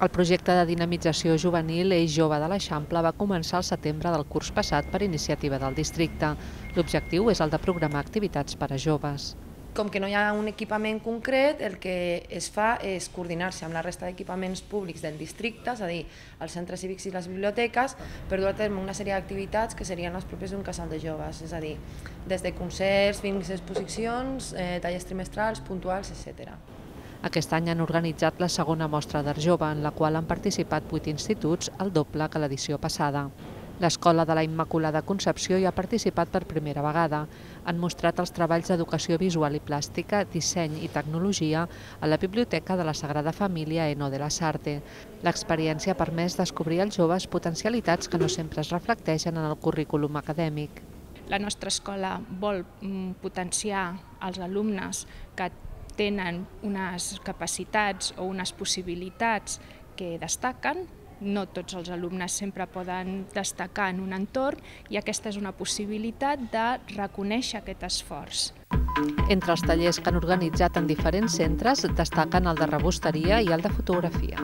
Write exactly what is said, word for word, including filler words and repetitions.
El projecte de dinamització juvenil Eix Jove de l'Eixample va començar al setembre del curs passat per iniciativa del districte. L'objectiu és el de programar activitats per a joves. Com que no hi ha un equipament concret, el que es fa és coordinar-se amb la resta d'equipaments públics del districte, és a dir, els centres cívics i les biblioteques, per dur a terme una sèrie d'activitats que serien les pròpies d'un casal de joves, és a dir, des de concerts fins a exposicions, eh, tallers trimestrals, puntuals, etcètera. Aquest any han organitzat la segona mostra d'Art Jove, en la qual han participat vuit instituts, el doble que l'edició passada. L'Escola de la Immaculada Concepció hi ha participat per primera vegada. Han mostrat els treballs d'educació visual i plàstica, disseny i tecnologia a la Biblioteca de la Sagrada Família Eno de la Sarte. L'experiència ha permès descobrir als joves potencialitats que no sempre es reflecteixen en el currículum acadèmic. La nostra escola vol potenciar els alumnes que tenen unes capacitats o unes possibilitats que destaquen. No tots els alumnes sempre poden destacar en un entorn i aquesta és una possibilitat de reconèixer aquest esforç. Entre els tallers que han organitzat en diferents centres destaquen el de rebosteria i el de fotografia.